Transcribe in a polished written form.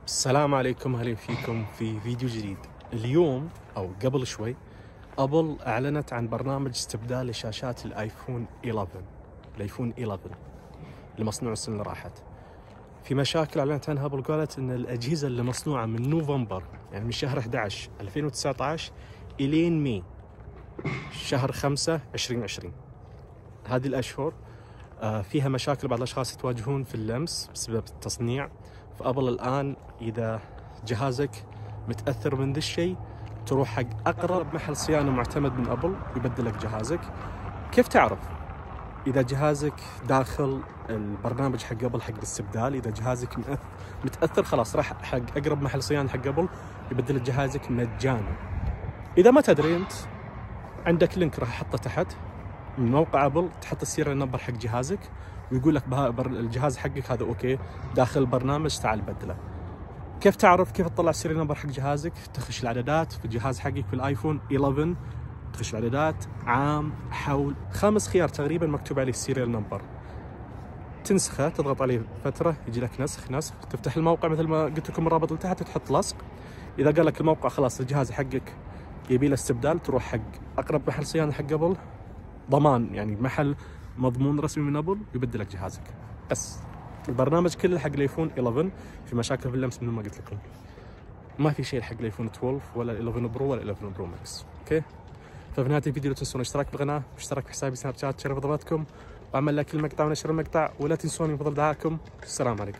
السلام عليكم، اهلا فيكم في فيديو جديد. اليوم او قبل شوي ابل اعلنت عن برنامج استبدال لشاشات الايفون 11 المصنوع السنه اللي راحت. في مشاكل اعلنت عنها ابل، قالت ان الاجهزه اللي مصنوعه من نوفمبر، يعني من شهر 11 2019 الين مي شهر 5 2020، هذه الاشهر فيها مشاكل. بعض الاشخاص يتواجهون في اللمس بسبب التصنيع. فابل الان اذا جهازك متاثر من ذا الشيء تروح حق اقرب محل صيانه معتمد من ابل يبدل لك جهازك. كيف تعرف اذا جهازك داخل البرنامج حق ابل حق الاستبدال؟ اذا جهازك متاثر خلاص راح حق اقرب محل صيانه حق ابل يبدل لك جهازك مجانا. اذا ما تدري انت، عندك لينك راح احطه تحت من موقع ابل، تحط السيريال نمبر حق جهازك ويقول لك الجهاز حقك هذا اوكي داخل البرنامج، تعال بدله. كيف تعرف؟ كيف تطلع السيريال نمبر حق جهازك؟ تخش الاعدادات في الجهاز حقك في الايفون 11، تخش الاعدادات، عام، حول، 5 خيار تقريبا مكتوب عليه السيريال نمبر، تنسخه، تضغط عليه فتره يجي لك نسخ، تفتح الموقع مثل ما قلت لكم الرابط اللي تحت وتحط لصق. اذا قال لك الموقع خلاص الجهاز حقك يبي له استبدال، تروح حق اقرب محل صيانه حق ابل، ضمان يعني محل مضمون رسمي من ابل يبدل لك جهازك. بس البرنامج كله حق الايفون 11. في مشاكل في اللمس مثل ما قلت لكم، ما في شيء حق الايفون 12 ولا 11 برو ولا 11 برو ماكس. اوكي، ففي نهايه الفيديو لا تنسون الاشتراك بالقناه واشتراك في حسابي سناب شات، شرف ضغطكم واعمل لايك للمقطع ونشر المقطع، ولا تنسوني بفضل دعائكم. السلام عليكم.